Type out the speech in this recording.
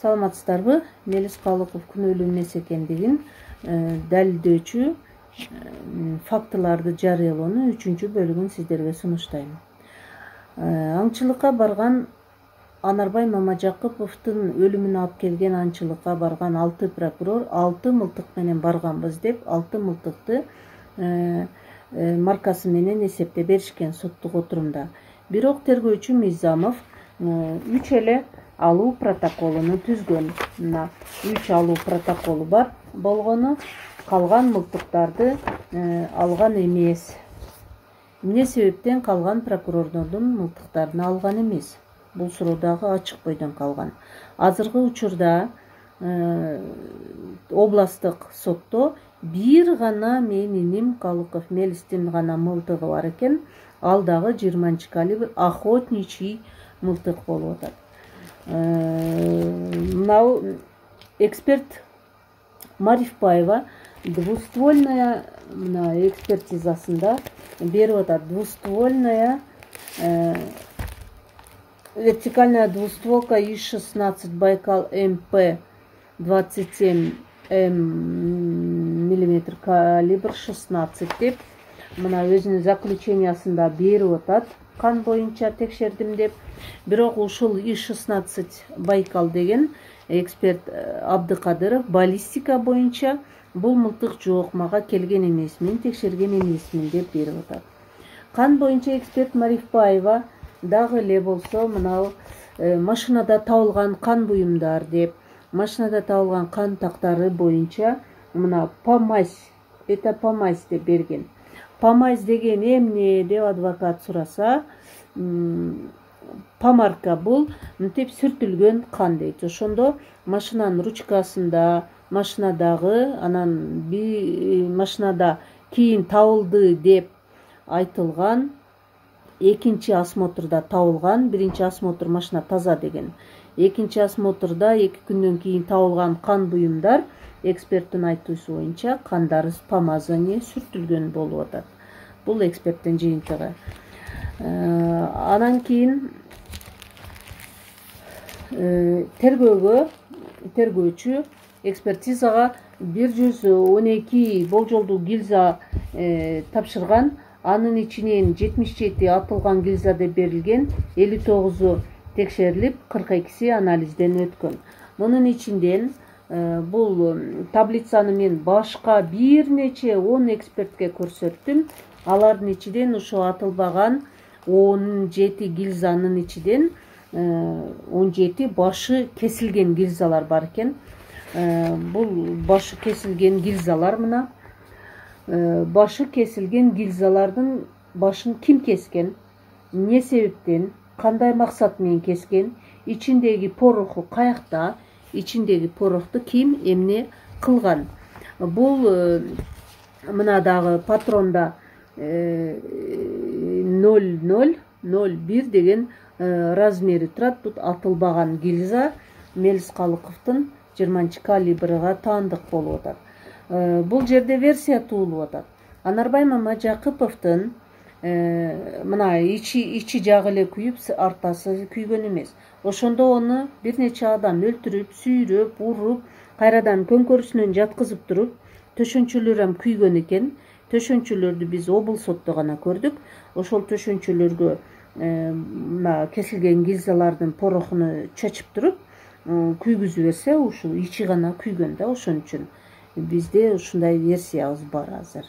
Саламатсыздарбы? Мелис Калыков күнөөлүү эмес экендигин далилдөөчү фактыларды жарыялоонун 3-бөлүгүн сиздерге сунуштайм. Аңчылыкка барган Анарбай Мамажакыповдун өлүмүнө алып келген аңчылыкка барган 6 прокурор 6 мылтык менен барганбыз деп 6 мылтыкты маркасы менен эсептеп беришкен соттук отурумда. Бирок тергөөчү Мизамов 3 эле алуу протоколуну түзгөн. Мына 3 алуу протоколу бар болгону калган мылтыктарды алган эмес. Эмне себептен калган прокурордордун мылтыктарын алган эмес? Бул суроо дагы ачык бойдон калган. Азыркы учурда областтык сотто бир гана менин иним Калыков Мелистин гана мылтыгы бар экен. Ал дагы 20-калибр охотничий мылтык болуп атат. Мынау эксперт Марифбаева двуствольная экспертизасында берип атат. Двуствольная вертикальная двустволка ИС-16 Байкал МП 27 мм калибр 16 деп мына өзүнүн заключениясында берип атат. Кан боюнча текшердим деп. Бирок ушул ИС-16 Байкал деген эксперт Абдыкадыров баллистика боюнча бул мылтык жок, мага келген эмес, мен текшерген эмесмин деп берип атат. Кан боюнча эксперт Марифбаева дагы эле болсо мынау машинада табылган кан буюмдар деп, машинада табылган кан тактары боюнча мына помазь, это помазь деп берген. Помазь деген эмне деп адвокат сураса, помарка бул мынтип сүртүлгөн кан дейт. Ошондо машинанын ручкасында, машинадагы, анан машинада кийин табылды деп айтылган, экинчи осмотрда табылган, биринчи осмотр машина таза деген. Экинчи осмотрда 2 күндөн кийин табылган кан буюмдар эксперттин айтуусу боюнча кандары помазание сүртүлгөн болуп атат. Бул эксперттин жыйынтыгы. Анан кийин тергөөчү экспертизага 112 болжолдуу гильза тапшырган. Анын ичинен 77 атылган гильза деп берилген, 59-у текшерилип, 42-си анализден өткөн. Мунун ичинден бул таблицаны мен башка бир нече 10 экспертке көрсөттүм. Алардын ичинен ошо атылбаган 17 гильзанын ичинен 17 башы кесилген гильзалар бар экен. Бул башы кесилген гильзалар мына. Башы кесилген гильзалардын башын ким кескен, эмне себептен, кандай максат менен кескен, ичиндеги пороху каякта, ичиндеги порохту ким эмне кылган. Бул мына дагы патронда 0001 деген размери турат. Бут атылбаган гильза Мелис Калыковдун 20-калибрга таандык болуп атат. Бул жерде версия туулуп атат. Анарбай Мамажакыповдун мына ичи жагы эле күйүп, артасы күйгөн эмес. Ошондо ону бир нече адам өлтүрүп, сүйрөп, уруп, кайрадан көңкөрүсүнөн жаткызып туруп, төшөнчөлөр ham күйгөн экен. Төшөнчөлөрдү биз облсотто гана көрдүк. Ошол төшөнчөлөргө мына кесилген гильзалардын порохуну чачып туруп, күйгүзүп берсе, ушул ичи гана күйгөн да. Ошон үчүн бизде ушундай версиябыз бар азыр.